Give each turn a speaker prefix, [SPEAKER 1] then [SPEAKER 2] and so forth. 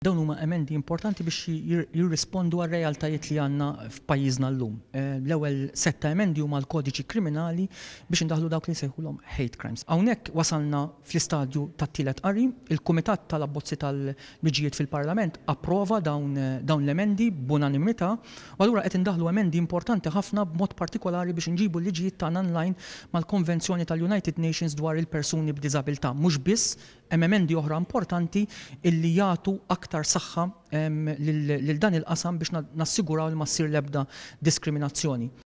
[SPEAKER 1] Dawn huma emendi importanti biex jirrispondu għar-realtajiet li għandna f'pajjiżna llum. L-ewwel sett ta' emendi huma l-kodiċi kriminali biex indaħħlu dawk li nsejħulhom hate crimes. Hawnhekk wasalna fl-istadju tat-tielet qari, il-Kumitat tal-Abbozzi tal-Liġijiet fil-Parlament approva dawn l-emendi b'unanimità u allura qed indaħħlu emendi importanti ħafna b'mod partikolari biex inġibu l-liġijiet tagħna in line mal-Konvenzjoni tal-United Nations dwar il-persuni b'diżabilità. Mhux biss, hemm emendi oħra importanti illi jagħtu aktar saħħa lil dan il-qasam biex nassiguraw li ma ssir l-ebda diskriminazzjoni.